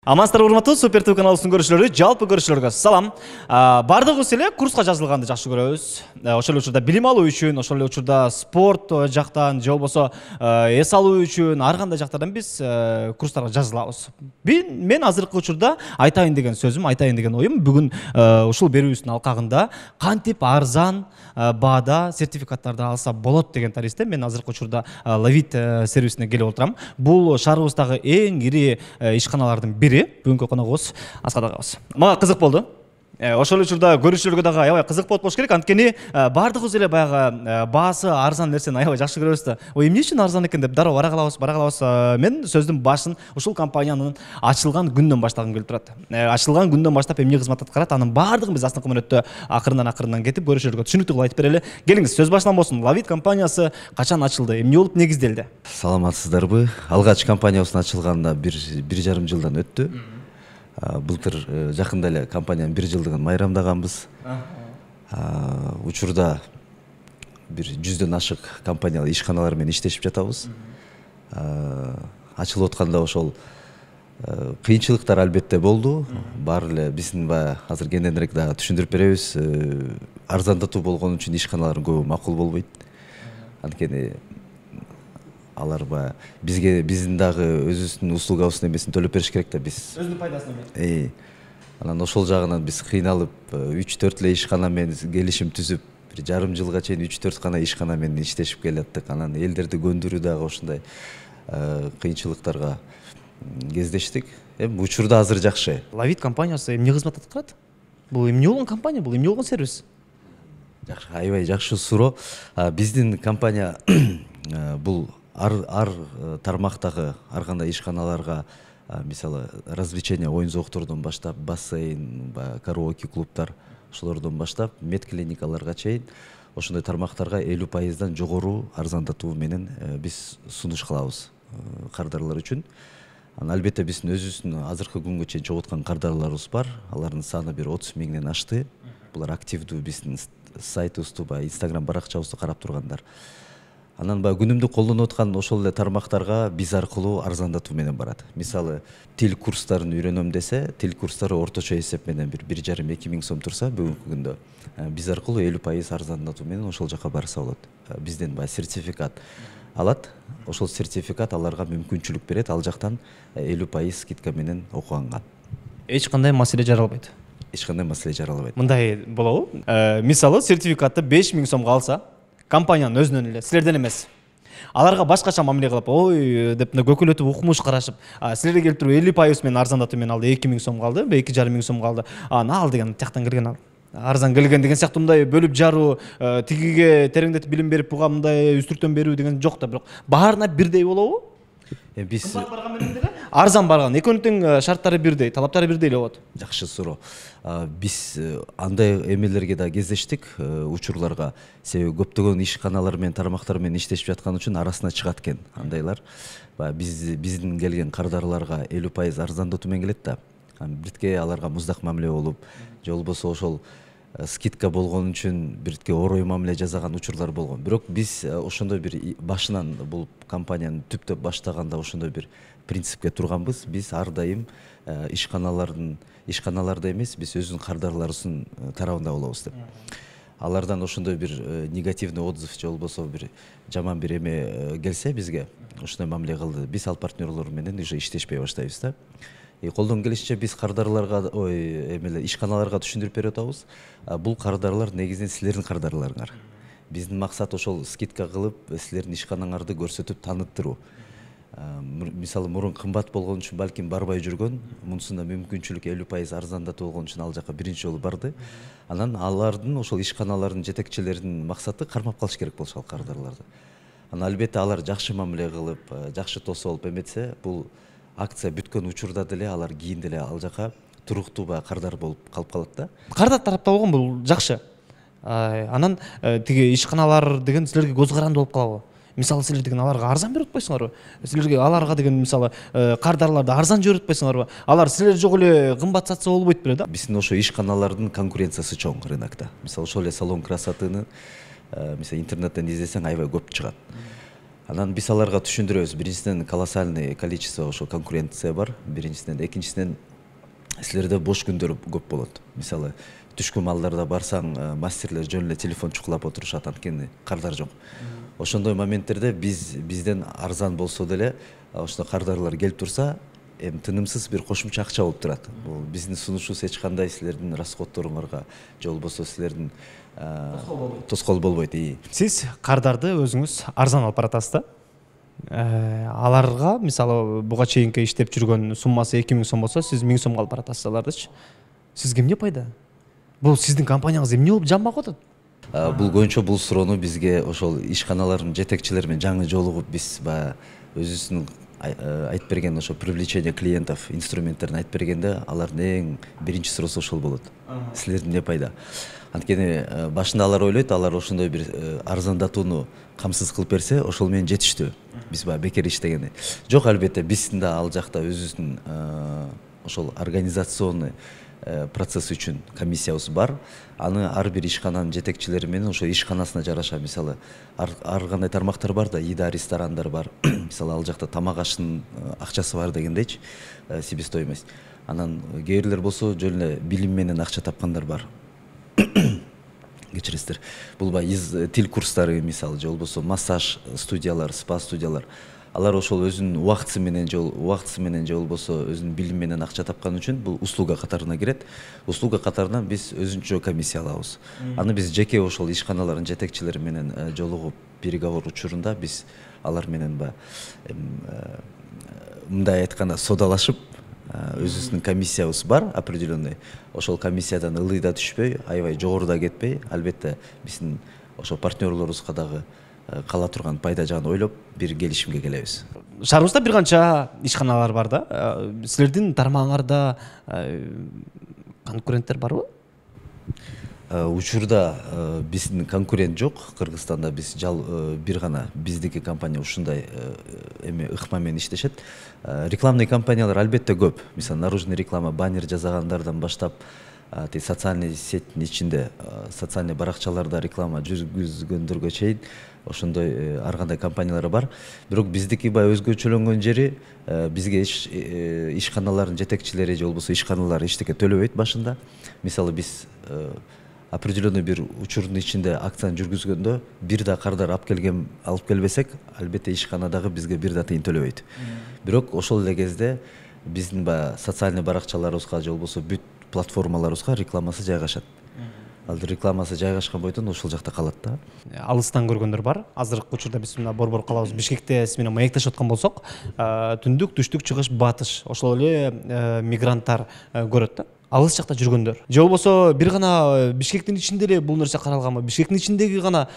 Амансыздар урматтуу Супер ТВ каналыбыздын көрүүчүлөрү, жалпы көрүүчүлөргө салам. Бардыгыбыз эле курска жазылганды жакшы көрөбүз. Ошол эле учурда билим алуу үчүн, ошол эле учурда спорт жактан же болбосо эс алуу үчүн ар кандай жактардан биз курстарга жазылабыз. Мен азыркы учурда айтайын деген сөзүм, айтайын деген оюм бүгүн ушул берүүбүздүн алкагында кантип арзан баада сертификаттарды алса болот деген таризде мен азыркы учурда Лавит сервисине келип отурам. Бул шаарыбыздагы эң ири ишканалардын бири. Бүгүнкү коногубуз Аскат агабыз. Мага кызык болду. Ошол учурда көрүүчүлөргө дагы аябай кызык болуп болуш керек. Анткени бардыгыбыз эле баягы баасы арзан нерсени аябай жакшы көрөбүз да. Ой, эмне үчүн арзан экен деп дароо бара калабыз. Мен сөздүн башын ушул компаниянын ачылган күндөн баштагым келип турат. Ачылган күндөн баштап эмне кызмат аткарат, анын баардыгын биз астыңкы мүнөттө акырындан кетип көрүүчүлөргө түшүнүктүү кылып айтып берели. Келиңиз, сөз башынан болсун. Лавит компаниясы качан ачылды? Эмне болуп негизделди? Саламатсыздарбы? Алгач компаниябыздын ачылганына 1,5 жылдан өттү. Былтыр жакында эле компаниянын 1 жылдыгын майрамдаганбыз. Учурда бир 100дөн ашык компаниялар, ишканалар менен иштешип жатабыз. Ачылып атканда ошол кыйынчылыктар албетте болду. Баары эле биздин баягы азыр кененирээк дагы түшүндүрүп беребиз. Арзандатуу болгон үчүн ишканалардын көбү макул болбойт. Анткени алар баягы биздин дагы өзүбүздүн услугабыздын эмесин төлөп бериш керек да, биз Өзүнүн пайдасын эме. Анан ошол жагынан биз кыйналып 3-4 эле ишкана менен келишим түзүп, бир жарым жылга чейин 3-4 гана ишкана менен иштешип келаттык. Анан элдерди көндүрүү дагы ошондой кыйынчылыктарга кездештик. Эми учурда азыр жакшы. Лавит компаниясы эмне кызмат аткарат? Бул эмне болгон компания, бул эмне болгон сервис? Жакшы, аябай жакшы суроо. Биздин компания бул ар тармактагы ар кандай ишканаларга, мисалы развлечение, оюн зооктордон баштап, бассейн, караоке клубтар, ошолордон баштап медклиникаларга чейин ошондой тармактарга 50% жогору арзандатуу менен биз сунуш кылабыз кардарлар үчүн. Албетте биздин өзүбүздүн азыркы күнгө чейин чогулткан кардарларыбыз бар. Алардын саны бир 30 миңден ашты. Булар активдүү биздин сайтыбызды, Instagram баракчабызды карап тургандар. Анан күнүмдүк колдонуп аткан ошол эле тармактарга биз аркылуу арзандатуу менен барат. Мисалы, тил курстарын үйрөнөм десе, тил курстары орточо эсеп менен бир 1,5–2 миң сом турса, бүгүнкү күндө биз аркылуу 50% арзандатуу менен ошол жака барса болот. Бизден сертификат алат. Ошол сертификат аларга мүмкүнчүлүк берет, ал жактан 50% скидка менен окуганган. Эч кандай маселе жаралбайт. Эч кандай маселе жаралбайт. Мындай болобу? Мисалы, сертификатты 5 миң сомго алса, компаниянын өзүнөн эле, силерден эмес. Аларга башкача мамиле кылып, ой деп көкөлөтүп укмуш карашып, силерге келип туруп 50% менен арзандатуу менен алды, 2 миң сомго алды, 2,5 миң сомго алды. Ал деген тияктан келген ал. Арзан келген деген сыяктуу мындай бөлүп жаруу, тигиге тереңдетип билим берип, буга мындай үстүртөн берүү деген жок да, бирок баарына бирдей болобу? Биз барган менен деле арзан барган, экөөнүн шарттары бирдей, талаптары бирдей эле болот. Жакшы суроо. Биз андай эмелерге да кездештик, учурларга. Себеби көптөгөн ишканалар менен тармактар менен иштешип жаткан үчүн арасына чыгат экен андайлар. Биздин келген кардарларга 50% арзандатуу менен келет да. Биртке аларга муздак мамиле болуп, же болбосо ошол скидка болгон үчүн биртке орой мамиле жасаган учурлар болгон. Бирок биз ошондой бир башынан бул компанияны түптөп баштаганда ошондой бир принципке турганбыз. Биз ар дайым ишканаларда эмес, биз өзүбүздүн кардарларыбыздын тарабында болобуз деп. Алардан ошондой бир негативный отзыв же болбосо бир жаман бир эме келсе бизге, ошондой мамиле кылды. Биз ал партнерлор менен уже иштешпей баштайбыз да. Колдон келишинче биз кардарларга, ишканаларга түшүндүрүп берип атабыз. Бул кардарлар негизинен силердин кардарларыңар. Биздин максат ошол скидка кылып, силердин ишканаңарды көрсөтүп таныттыруу. Мисалы, мурун кымбат болгон үчүн балким барбай жүргөн, мунусунда мүмкүнчүлүк 50% арзандатуу болгон үчүн ал жака биринчи жолу барды. Анан алардын, ошол ишканалардын жетекчилеринин максаты кармап калыш керек болчу ал кардарларды. Анан албетте алар жакшы мамиле кылып, жакшы тосуп алып эметсе, бул акция бүткөн учурда деле алар кийин деле ал жака туруктуу кардар болуп калып калат да. Кардар тарапта болгон бул жакшы. Анан тиги ишканалар деген силерге көз каранды болуп калабы? Мисалы, силер деген аларга арзан берип атпайсыңарбы? Силерге аларга деген мисалы кардарларды арзан жиберип атпайсыңарбы? Алар силер жок эле кымбат сатса болбойт беле да? Биздин ошо ишканалардын конкуренциясы чоң рынокто. Мисалы, ошол эле салон красотыны мисалы интернеттен издесең аябай көп чыгат. Анан биз аларга түшүндүрөбүз. Биринчиден колоссальный количество ошо конкуренция бар. Биринчиден, экинчиден силерде бош күндөр көп болот. Мисалы түшкү малдарда барсаң, мастерлер жөн эле телефон чукулап отурушат, анткени кардар жок. Ошондой моменттерде бизден арзан болсо деле ошондой кардарлар келип турса, эми тынымсыз бир кошумча акча болуп турат. Бул биздин сунушубуз эч кандай силердин расходторуңарга же болбосо силердин тоскоол болбойт. Сиз кардарды өзүңүз арзан алып баратасыз да? Аларга мисалы буга чейинки иштеп жүргөн суммасы 2000 сом болсо, сиз 1000 сомго алып баратасыз алардычы. Сизге эмне пайда? Бул сиздин компанияңыз эмне болуп жанбак атат? Бул көбүнчө бул суроону бизге ошол ишканалардын жетекчилери менен жаңы жолугуп биз баягы өзүбүздүн айтып берген ошо привлечение клиентов инструменттерин айтып бергенде алардын эң биринчи суроосу ошол болот. Силердин эмне пайда? Анткени башында алар ойлойт, алар ошондой бир арзандатууну камсыз кылып берсе, ошол менен жетиштүү. Биз баягы бекер иштегени. Жок, албетте биздин да ал жакта өзүбүздүн ошол организационный процесс үчүн комиссиябыз бар. Аны ар бир ишкананын жетекчилери менен ошо ишканасына жараша, мисалы ар кандай тармактар бар да, ида ресторандар бар. Мисалы ал жакта тамак аштын акчасы бар дегендейчи, себестоимость. Анан кээ бирлер болсо жөн эле билим менен акча тапкандар бар. Кечиресиздер. Бул баягы тил курстары, мисалы же болбосо массаж студиялар, спа студиялар. Алар ошол өзүнүн убактысы менен же болбосо өзүнүн билим менен акча тапкан үчүн бул услуга катарына кирет. Услуга катарынан биз өзүнчө комиссия алабыз. Аны биз жеке ошол ишканалардын жетекчилери менен жолугуп переговор учурунда биз алар менен мындай айтканда содалашып, өзүбүздүн комиссиябыз бар определенный. Ошол комиссиядан ылый да түшпөй, аябай жогоруда кетпей, албетте биздин ошол партнерлорубузга дагы кала турган пайда жагын ойлоп бир келишимге келебиз. Шаарыбызда бир канча ишканалар бар да. Силердин тармагыңарда конкуренттер барбы? Учурда биздин конкурент жок. Кыргызстанда биз бир гана биздики компания ушундай ыкма менен иштешет. Рекламный компаниялар албетте көп. Мисалы наружный реклама, баннер жасагандардан баштап, социальный сеттин ичинде, социальный баракчаларда реклама жүргүзгөндөргө чейин ошондой ар кандай компаниялар бар. Бирок биздики баягы өзгөчөлөнгөн жери, бизге ишканалардын жетекчилери же болбосо ишканалар эчтеке төлөбөйт башында. Мисалы биз определенный бир учурдун ичинде акцияны жүргүзгөндө бир да кардар алып келбесек, албетте ишкана дагы бизге бир да тыйын төлөбөйт. Бирок ошол эле кезде биздин баягы социальный баракчаларыбызга же болбосо бүт платформаларыбызга рекламасы жайгашат. Ал рекламасы жайгашкан бойдон ошол жакта калат да. Алыстан көргөндөр бар. Азыркы учурда биз мына Борбор калабыз Бишкекте сиз менен маектешип аткан болсок, түндүк, түштүк, чыгыш, батыш ошол эле мигранттар көрөт да. Алыс жакта жүргөндөр. Же болбосо бир гана Бишкектин ичинде эле бул нерсе каралганбы? Бишкектин ичиндеги гана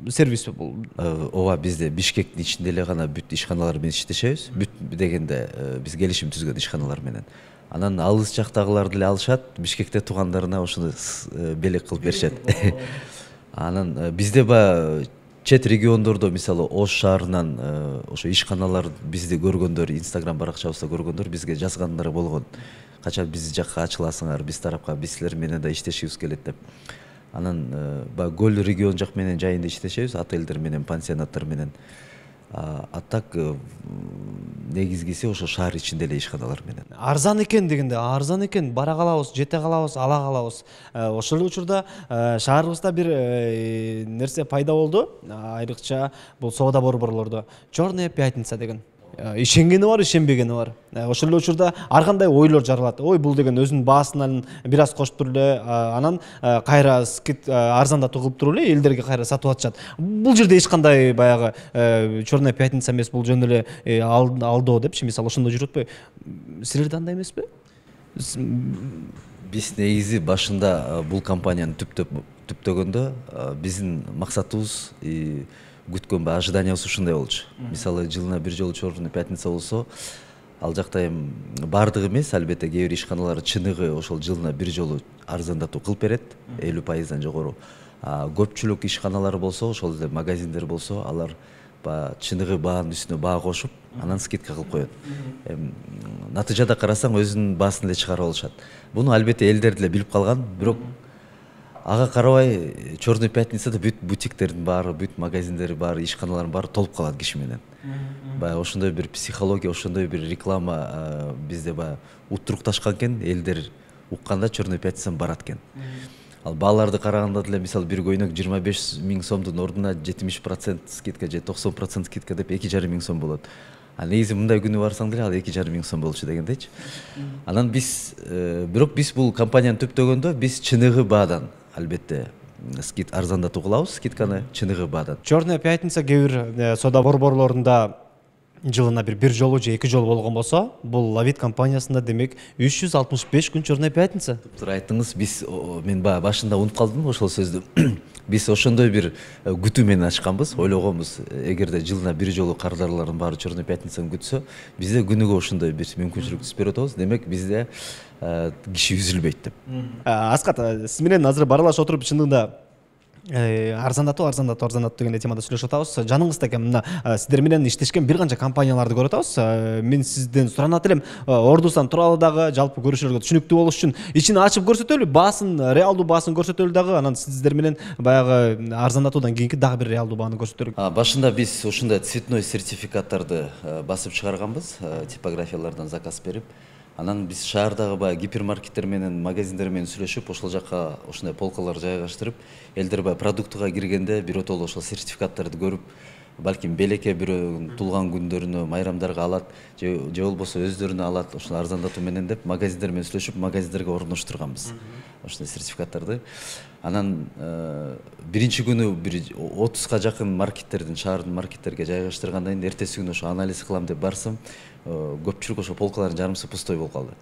сервис бул. Ооба, бизде Бишкектин ичинде эле гана бүт ишканалар менен иштешебиз. Бүт дегенде биз келишим түзгөн ишканалар менен. Анан алыс жактагылар деле алышат, Бишкекте туугандарына ошону белек кылып беришет. Анан бизде чет региондордо, мисалы Ош шаарынан ошо ишканалар бизди көргөндөр, Instagram баракчабызда көргөндөр бизге жазгандары болгон. Качан биз жакка ачыласыңар, биз тарапка, биз силер менен да иштешибиз келет деп. Анан Көл регион жак менен жайында иштешебиз, отелдер менен, пансионаттар менен. А так негизгиси ошо шаар ичинде эле ишканалар менен. Арзан экен дегенде, арзан экен, бара калабыз, жете калабыз, ала калабыз. Ошол учурда шаарыбызда бир нерсе пайда болду. Айрыкча бул соода борборлордо Черная пятница деген. Ишенгени бар, ишенбегени бар. Ошол эле учурда ар кандай ойлор жаралат. Ой, бул деген өзүнүн баасынан бир аз кошуп туруп эле, анан кайра арзандатуу кылып туруп эле элдерге кайра сатып атышат. Бул жерде эч кандай баягы Черная пятница эмес, бул жөн эле алдоо депчи, мисалы ошондо жүрүп атпайбы? Силерде андай эмеспи? Биз негизи башында бул компанияны түптөгөндө биздин максатыбыз күткөн ожиданиябыз ушундай болчу. Мисалы жылына бир жолу Черная пятница болсо, ал жакта эми бардыгы эмес, албетте кээ бир ишканалар чыныгы ошол жылына бир жолу арзандатуу кылып берет, 50% жогору. Көпчүлүк ишканалар болсо, ошол эле магазиндер болсо, алар чыныгы баанын үстүнө баа кошуп, анан скидка кылып коет. Натыйжада карасаң өзүнүн баасын эле чыгарып алышат. Буну албетте элдер деле билип калган, бирок ага карабай Черный пятницада бүт бутиктердин баары, бүт магазиндери баары, ишканалардын баары толуп калат киши менен. Баягы ошондой бир психология, ошондой бир реклама бизде баягы уттурукташкан экен, элдер укканда Черный пятницаны барат экен. Ал бааларды караганда деле мисалы бир көйнөк 25 000 сомдун ордуна 70% скидка же 90% скидка деп 2,5 миң сом болот. А негизи мындай күнү барсаң деле ал 2,5 миң сом болчу дегендейчи. Анан биз бирок биз бул компанияны төптөгөндө биз чыныгы баадан албетте скид арзандатуу кылабыз, скидканы чыныгы баадан. Черная пятница кээ бир соода борборлорунда жылына бир жолу же 2 жолу болгон болсо, бул Авид компаниясында демек 365 күн Черная пятница. Туура айттыңыз, биз мен баягы башында унутуп калдым ошол сөздү. Биз ошондой бир күтүү менен ачканбыз, ойлогонбуз, эгерде жылына бир жолу кардарлардын баары Черный пятницаны күтсө, бизде күнүгө ошондой бир мүмкүнчүлүк түзүп берип атабыз. Демек бизде киши үзүлбөйт деп. Аскат, сиз менен азыр баралашып отуруп чындыгында арзандатуу деген темада сүйлөшүп атабыз. Жаныңызда экен мына сиздер менен иштешкен бир канча компанияларды көрүп атабыз. Мен сизден суранат элем, ордусунан тууралуу дагы жалпы көрүүчүлөргө түшүнүктүү болуш үчүн ичин ачып көрсөтөлү, баасын, реалдуу баасын көрсөтөлү дагы, анан сиздер менен баягы арзандатуудан кийинки дагы бир реалдуу бааны көрсөтөлү. Башында биз ошондой цветной сертификаттарды басып чыгарганбыз, типографиялардан заказ берип. Анан биз шаардагы баягы гипермаркеттер менен, магазиндер менен сүйлөшүп, ошол жакка ошондой полкалар жайгаштырып, элдер баягы продуктуга киргенде биротоло ошол сертификаттарды көрүп, балким белекке бирөөнүн туулган күндөрүнө, майрамдарга алат, же болбосо өздөрүнө алат, ошол арзандатуу менен деп магазиндер менен сүйлөшүп, магазиндерге орноштурганбыз ошондой сертификаттарды. Анан биринчи күнү бир 30га жакын маркеттердин, шаардын маркеттерге жайгаштыргандан кийин эртеси күнү ошо анализ кылам деп барсам, көпчүлүк ошо полкалардын жарымсы пустой болуп калды.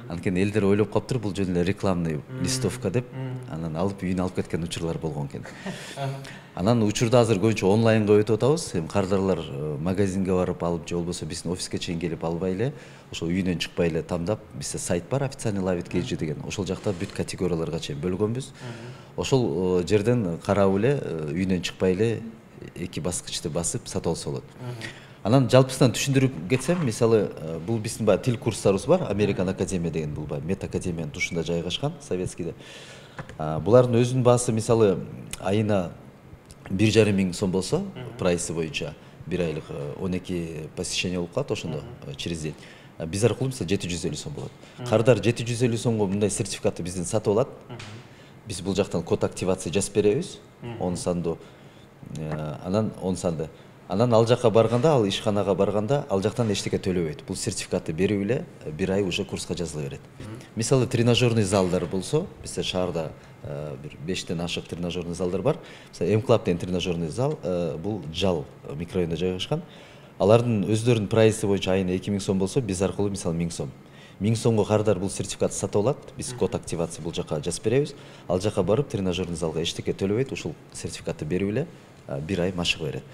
Анткени элдер ойлоп калыптыр, бул жөн эле рекламный листовка деп, анан алып үйүнө алып кеткен учурлар болгон экен. Анан учурда азыр көбүнчө онлайнга өтүп атабыз. Эми кардарлар магазинге барып алып, же болбосо биздин офиске чейин келип албай эле, ошол үйүнөн чыкпай эле тандап, бизде сайт бар, официальный Авид KG деген. Ошол жакта бүт категорияларга чейин бөлгөнбүз. Ошол жерден карап эле, үйүнөн чыкпай эле 2 баскычты басып сатып алса болот. Анан жалпысынан түшүндүрүп кетсем, мисалы бул биздин баягы тил курстарыбыз бар, American Академия деген, бул баягы Мет Академиянын тушунда жайгашкан, советскийде. Булардын өзүнүн баасы мисалы айына 1,5 миң сом болсо, прайсы боюнча бир айлык 12 посещение болуп калат ошондо через день. Биз аркылуу мисалы 750 сом болот. Кардар 750 сомго мындай сертификатты бизден сатып алат. Биз бул жактан код активация жазып беребиз, 10 сандуу. Анан 10 санды. Анан ал жакка барганда, ал ишканага барганда, ал жактан эчтеке төлөбөйт. Бул сертификатты берип эле бир ай уже курска жазыла берет. Мисалы тренажерный залдар болсо, бизде шаарда бир 5тен ашык тренажерный залдар бар. Мисалы М-Club деген тренажерный зал, бул Жал микрорайонунда жайгашкан. Алардын өздөрүнүн прайсы боюнча айына 2 миң сом болсо, биз аркылуу мисалы 1000 сом. 1000 сомго кардар бул сертификатты сатып алат. Биз код активация бул жакка жазып беребиз. Ал жакка барып тренажерный залга эчтеке төлөбөйт, ушул сертификатты берип эле бир ай машык берет.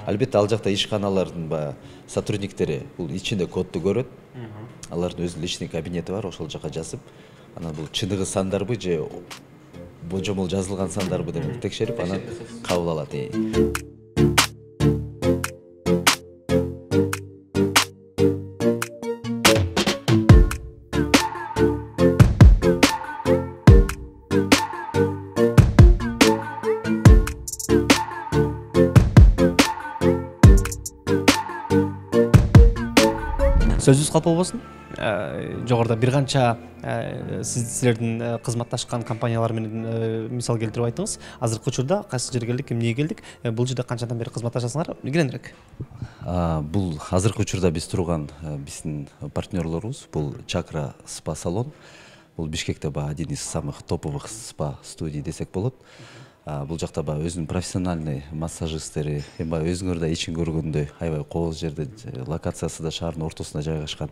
Албетте ал жакта ишканалардын баягы сотрудниктери бул ичинде кодду көрөт. Алардын өзүнүн личный кабинети бар, ошол жакка жазып, анан бул чыныгы сандарбы же божомол жазылган сандарбы деп текшерип, анан кабыл алат. Сөзүбүз калп болбосун. Жогоруда бир канча сиздердин кызматташкан компаниялар менен мисал келтирип айттыңыз. Азыркы учурда кайсы жерге келдик, эмнеге келдик? Бул жерде канчадан бери кызматташасыңар? Кененирээк. Бул азыркы учурда биз турган биздин партнерлорубуз, бул Чакра спа салон. Бул Бишкекте один из самых топовых спа студий десек болот. Бул жакта өзүнүн профессиональный массажисттери, эми өзүңөр да ичин көргөндөй аябай кооз жерде, локациясы да шаардын ортосунда жайгашкан.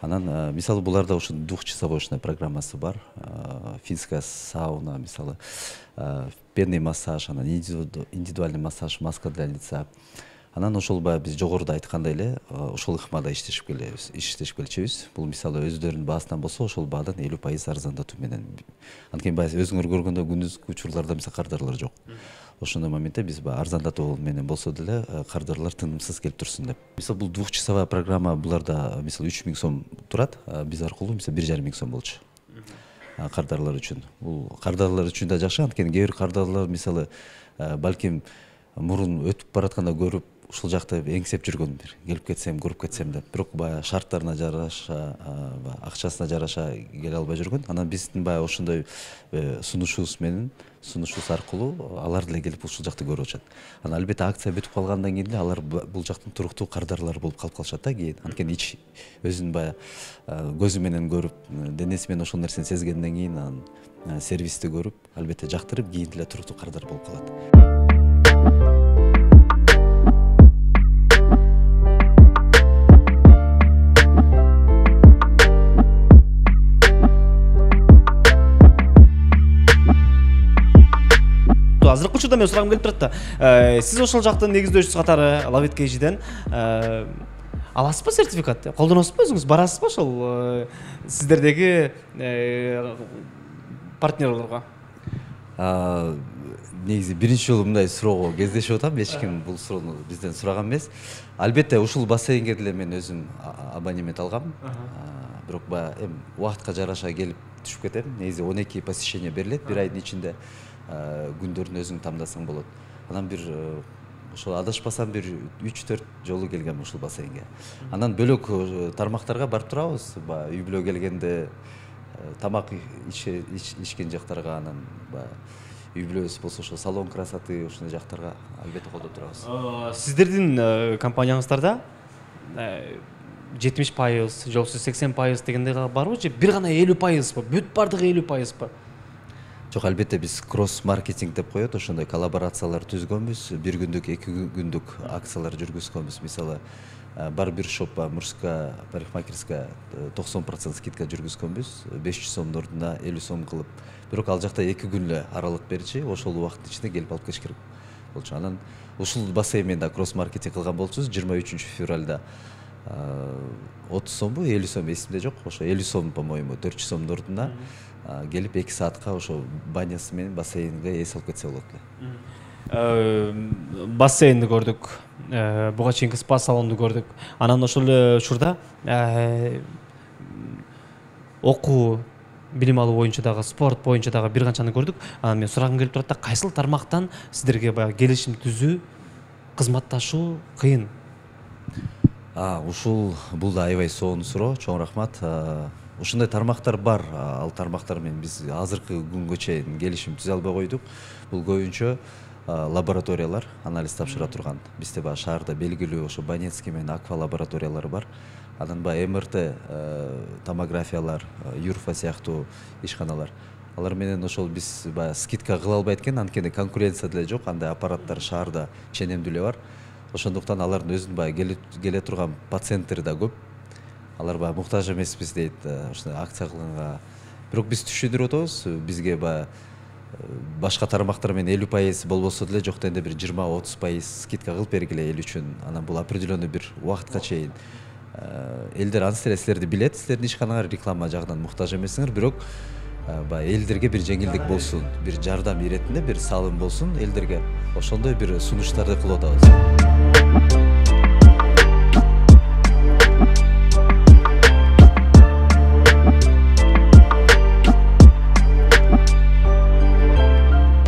Анан мисалы буларда ушу двухчасовой программасы бар. Финская сауна, мисалы пенный массаж, анан индивидуальный массаж, маска для лица. Анан ошол биз жогоруда айткандай эле ошол ыкмада иштешип келчүбүз. Бул мисалы өздөрүнүн баасынан болсо, ошол баадан 50% арзандатуу менен. Анткени өзүңөр көргөндө күндүзгү учурларда мисалы кардарлар жок. Ошондой моментте биз арзандатуу менен болсо деле кардарлар тынымсыз келип турсун деп. Мисалы бул двухчасовая программа буларда мисалы 3000 сом турат, биз аркылуу мисалы 1,5 миң сом болчу. кардарлар үчүн. Бул кардарлар үчүн да жакшы, анткени кээ бир кардарлар мисалы балким мурун өтүп баратканда көрүп ушул жакта эңсеп жүргөн, бир келип кетсем, көрүп кетсем деп, бирок баягы шарттарына жараша, акчасына жараша келе албай жүргөн. Анан биздин баягы ошондой сунушубуз менен, сунушубуз аркылуу алар деле келип ушул жакты көрүп атышат. Анан албетте акция бүтүп калгандан кийин деле алар бул жактын туруктуу кардарлары болуп калып калышат да кийин. Анткени өзүн баягы көзү менен көрүп, денеси менен ошол нерсени сезгенден кийин анан сервисти көрүп, албетте жактырып, кийин деле туруктуу кардар болуп калат. Азыркы учурда мен сурагым келип турат да. Сиз ошол жактын негиздөөчүсү катары Love It KG'ден аласызбы сертификат? Колдоносузбу өзүңүз? Барасызбы ошол сиздердеги партнерлорго? Негизи биринчи жолу мындай суроого кездешип атам. Эч ким бул суроону бизден сураган эмес. Албетте ушул бассейнге деле мен өзүм абонемент алгам. Бирок баягы эми убакытка жараша келип түшүп кетем. Негизи 12 посещение берилет бир айдын ичинде. Күндөрүн өзүң тандасаң болот. Анан бир ошол адашпасам бир 3-4 жолу келгем ушул бассейнге. Анан бөлөк тармактарга барып турабыз. Үй бүлө келгенде тамак ичкен жактарга, анан үй бүлөбүз болсо ошо салон красоты ушундай жактарга албетте колдоп турабыз. Сиздердин компанияңыздарда 70%, же болбосо 80% дегендей барбы, же бир гана 50%, бүт бардыгы 50%? Жок, албетте биз кросс маркетинг деп коет, ошондой коллаборациялар түзгөнбүз, бир күндүк, 2 күндүк акциялар жүргүзгөнбүз. Мисалы, барбершоппа, мужская парикмахерская 90% скидка жүргүзгөнбүз, 500 сомдун ордуна 50 сом кылып. Бирок ал жакта 2 күн эле аралык берчи, ошол убакыттын ичинде келип алып кетиш керек болчу. Анан ушул бассейн менен да кросс маркетинг кылган болчубуз. 23 февралда 30 сомбу, 50 сом эсимде жок, ошо 50 сом, по-моему, 400 сомдун ордуна келип 2 саатка ошо банясы менен бассейнге эс алып кетсе болот эле. Бассейнди көрдүк, буга чейинки спа салонду көрдүк. Анан ошол эле учурда окуу, билим алуу боюнча дагы, спорт боюнча дагы бир канчаны көрдүк. Анан мен сурагым келип турат да, кайсыл тармактан сиздерге баягы келишим түзүү, кызматташуу кыйын? Ушул бул да аябай сонун суроо, чоң рахмат. Ушундай тармактар бар. Ал тармактар менен биз азыркы күнгө чейин келишим түзө албай койдук. Бул көбүнчө лабораториялар, анализ тапшыра турган. Бизде баягы шаарда белгилүү ошо Банецкий менен Аква лабораториялары бар. Анан баягы МРТ томографиялар, Юрфа сыяктуу ишканалар. Алар менен ошол биз баягы скидка кыла албайт экен, анткени конкуренция деле жок, андай аппараттар шаарда ченемдүү эле бар. Ошондуктан алардын өзүнүн баягы келе турган пациенттери да көп. Алар баягы муктаж эмеспиз дейт ушундай акция кылганга. Бирок биз түшүндүрүп атабыз, бизге баягы башка тармактар менен 50% болбосо деле жок дегенде бир 20-30% скидка кылып бергиле эл үчүн. Анан бул определенный бир убакытка чейин. Элдер анысы эле силерди билет, силердин ишканаңар реклама жагынан муктаж эмессиңер, бирок баягы элдерге бир жеңилдик болсун, бир жардам иретинде бир салым болсун элдерге. Ошондой бир сунуштарды кылып атабыз.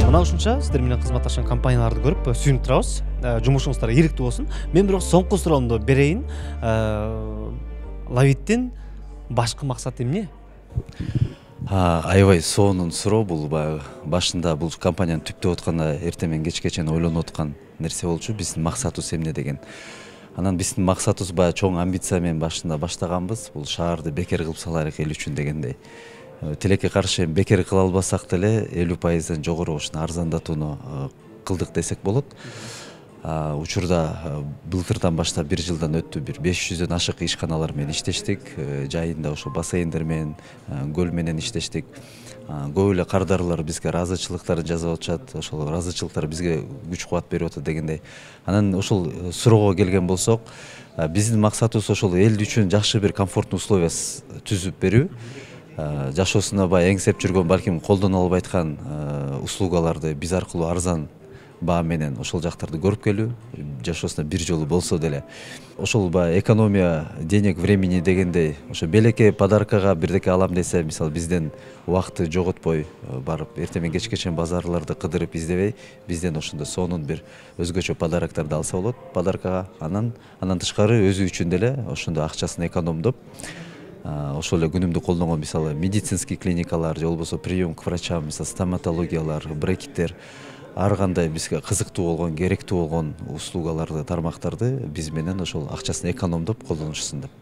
Мына ушунча сиздер менен кызматташкан компанияларды көрүп сүйүнүп турабыз. Жумушуңуздар ийгиликтүү болсун. Мен бирок соңку суроомду берейин. Love It'тин башкы максаты эмне? Аябай сонун суроо бул. Баягы башында бул компанияны түптөп атканда эртең менен кечке чейин ойлонуп аткан нерсе болчу. Биздин максатыбыз эмне деген. Анан биздин максатыбыз баягы чоң амбиция менен башында баштаганбыз. Бул шаарды бекер кылып салайлык эл үчүн дегендей. Тилекке каршы бекер кыла албасак деле 50%дан жогору ушуну арзандатууну кылдык десек болот. Учурда былтырдан баштап 1 жылдан өттү, бир 500дөн ашык ишканалар менен иштештик. Жайында ошо бассейндер менен, көл менен иштештик. Көп эле кардарлар бизге ыраазычылыктарын жазып атышат. Ошол ыраазычылыктар бизге күч кубат берип атат дегендей. Анан ошол суроого келген болсок, биздин максатыбыз ошол эл үчүн жакшы бир комфорттуу условия түзүп берүү. Жашоосуна баягы эңсеп жүргөн, балким колдоно албай аткан услугаларды биз аркылуу арзан баа менен ошол жактарды көрүп келүү, жашоосуна бир жолу болсо деле ошол баягы экономия денег времени дегендей, ошо белекке подаркага бирдеке алам десе, мисалы бизден убакытты жоготпой барып эртең менен кечке чейин базарларды кыдырып издебей, бизден ошондой сонун бир өзгөчө подароктарды алса болот подаркага. Андан тышкары өзү үчүн деле ошондой акчасын экономдоп, ошол эле күнүмдүк колдонгон мисалы медицинский клиникалар же болбосо прием к врачам, мисалы стоматологиялар, брекеттер, ар кандай бизге кызыктуу болгон, керектүү болгон услугаларды, тармактарды биз менен ошол акчасын экономдоп колдонушсын деп.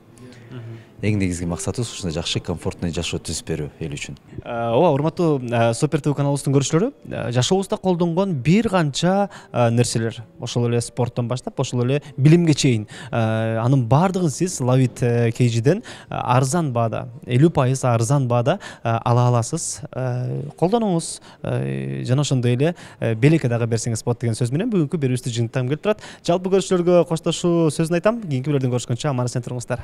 Эң негизги максатыбыз ушундай жакшы, комфортный жашоо түзүп берүү эл үчүн. Ооба, урматтуу Супер ТВ каналыбыздын көрүүчүлөрү, жашообузда колдонгон бир канча нерселер, ошол эле спорттон баштап, ошол эле билимге чейин, анын баардыгын сиз Lavit KG'ден арзан баада, 50% арзан баада ала аласыз. Колдонуңуз, жана ошондой эле белекке дагы берсеңиз болот деген сөз менен бүгүнкү берүүбүздү жыйынтыктагым келип турат. Жалпы көрүүчүлөргө коштошуу сөзүн айтам. Кийинки берүүдөн көрүшкөнчө аман эсен туруңуздар.